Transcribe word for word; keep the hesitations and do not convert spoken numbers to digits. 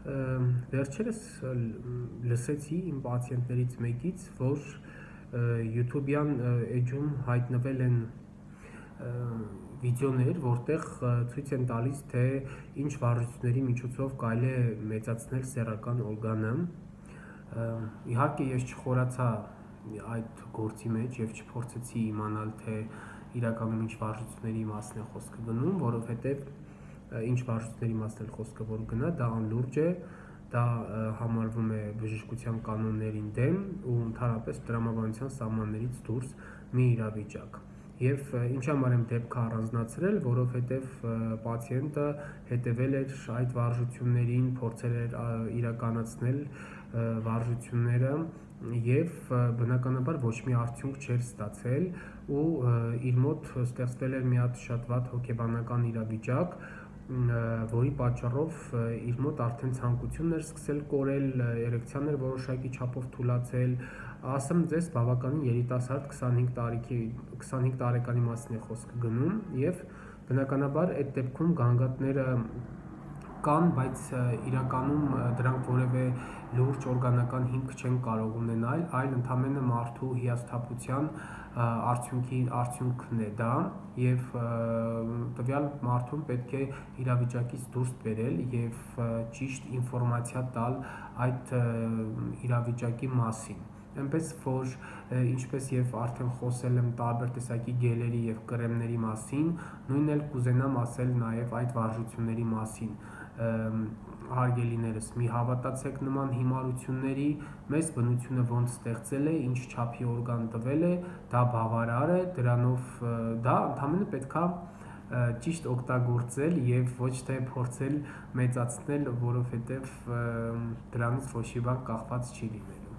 Վերջերս լսեցի իմ պացիենտներից մեկից, որ YouTube-յան էջում հայտնվել են վիդեոներ, որտեղ ցույց են տալիս, թե ինչ վարժությունների միջոցով կարելի է մեծացնել սեռական օրգանը։ Իհարկե ես չխորացա այդ գործի մեջ եւ չփորձեցի իմանալ, թե իրականում ինչ վարժությունների մասն է խոսքը գնում, որովհետեւ ինչ վարժությունների մասն է խոսքը որ գնա, դա անլուրջ է, դա համարվում է բժշկության կանոններին դեմ ու ընդհանրապես տրամաբանության սահմաններից դուրս մի իրավիճակ։ Եվ ինչ համար եմ դեպքը առանձնացրել, որովհետև պացիենտը հետևել էր այդ վարժություններին, փորձել էր իրականացնել վարժությունները եւ բնականաբար ոչ մի արդյունք չէր ստացել ու իր մոտ ստեղծվել էր մի հատ շատ վատ հոգեբանական իրավիճակ, որի պատճառով իր մոտ արդեն ցանկությունն էր սկսել կորել, էրեկցիան էր որոշակի չափով թուլացել, ասեմ ձեզ բավականին երիտասարդ քսանհինգ տարեկի քսանհինգ տարեկանի մասին է խոսքը գնում եւ բնականաբար այդ դեպքում գանգատները կան, բայց իրականում դրանք որևէ լուրջ օրգանական հիմք չեն կարող ունենալ, այլ ընդամենը մարդու հիասթափության արդյունքի արդյունքն է դա եւ տվյալ մարդուն պետք է իրավիճակից դուրս բերել եւ ճիշտ ինֆորմացիա տալ այդ իրավիճակի մասին։ Այնպես որ ինչպես եւ արդեն խոսել եմ տարբեր տեսակի գելերի եւ կրեմների մասին, նույնն էլ կուզենամ ասել նաեւ այդ վարժությունների մասին։ Հարգելիներս, մի հավատացեք նման հիմարությունների, մեզ բնությունը ոնց ստեղծել է, ինչ չափի օրգան տվել է, դա բավարար է, դրանով դա ընդհանրապես պետքա ճիշտ օգտագործել եւ ոչ թե փորձել մեծացնել, որովհետեւ դրանից ոչ մի բան կախված չի լինելու։